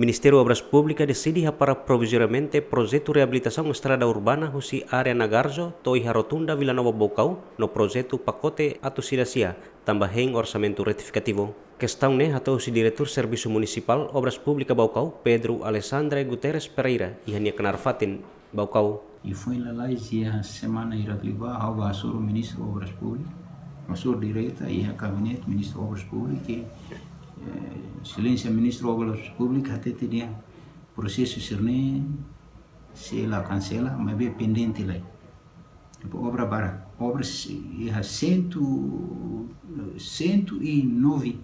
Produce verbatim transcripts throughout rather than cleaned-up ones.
Ministériu Obras Públikas deside hapara provizoriamente projetu reabilitasaun estrada urbana husi área Nagarjo to'o iha Rotunda Vila Nova Baucau no projetu pakote atu sida sia, tanba hein orsamentu retifikativu. Kestaun ne'e hato'o husi Diretór Servisu Munisipál Obras Públikas Baucau, Pedro Alexandre Guterres Pereira, iha nia knaar fatin, Baucau. I foin lalais iha semana hirak liubá, ha'u bá hasoru Ministru Obras Públikas, hasoru direta iha gabinete Ministru Obras Públikas, ke, eh, Exelénsia Ministru Obras Públikas hatete dehan prosesu sira-ne'e sei la kansela, maibé pendente lai. Depois obra barak, obra se-, iha sentu, sentu e nove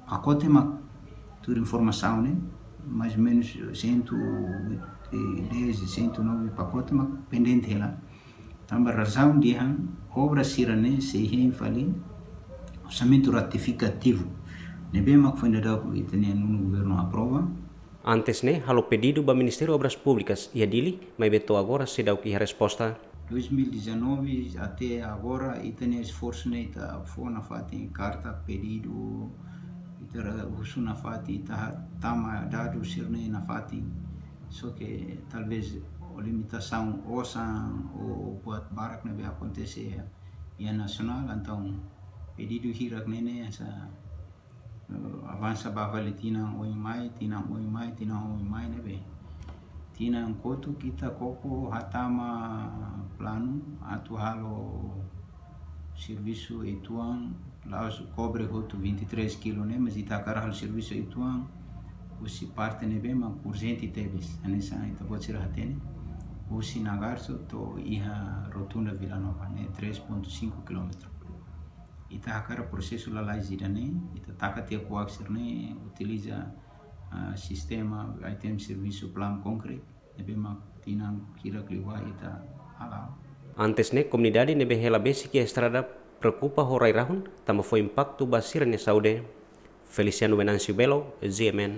pakote mak, tuir informasaun ne'e, mais ou menus sentu e dez, sentu e nove pakote mak pendente hela. Tanba razaun dehan obra sira-ne'e sei hein fali orsamentu retifikativu ne'ebé mak foin daudauk ita-nia nonu governu aprova. Antes ne'e halo pedidu ba Ministériu Obras Públikas iha Dili, maibé to'o agora seidauk iha resposta. Dois mil e dezanove até agora, ita-nia esforsu ne'e ita fó nafatin karta pedidu, ita husu nafatin, ita tama dadus sira-ne'e nafatin. Só ke talvés ho limitasaun osan ou buat barak ne'ebé akontese iha nasionál, entaun pedidu hirak ne'e ne'e hanesan, eh, avansa ba fali tinan oin mai, tinan oin mai, tinan oin mai ne'ebé tinan kotuk ita koko hatama planu atu halo servisu uitoan, la'ós kobre hotu vinte e três kilo ne'e, mas ita hakarak halo servisu uitoan husi parte ne'ebé mak urjente tebes. Hanesan ita-boot sira hatene, husi Nagarjo to'o iha Rotunda Vila Nova ne'e três ponto cinco quilómetro. Ita hakarak prosesu lalais ida-ne'e, ita taka tiha kuak sira-ne'e, utiliza, ah, sistema item servisu Plan Concrete, ne'ebé mak tinan hirak liubá ita hala'o. Antes ne'e, komunidade ne'ebé hela besik iha estrada preokupa ho rai-rahun, tanba fó impaktu ba sira-nia saúde. Feliciano Venâncio Belo, G M N.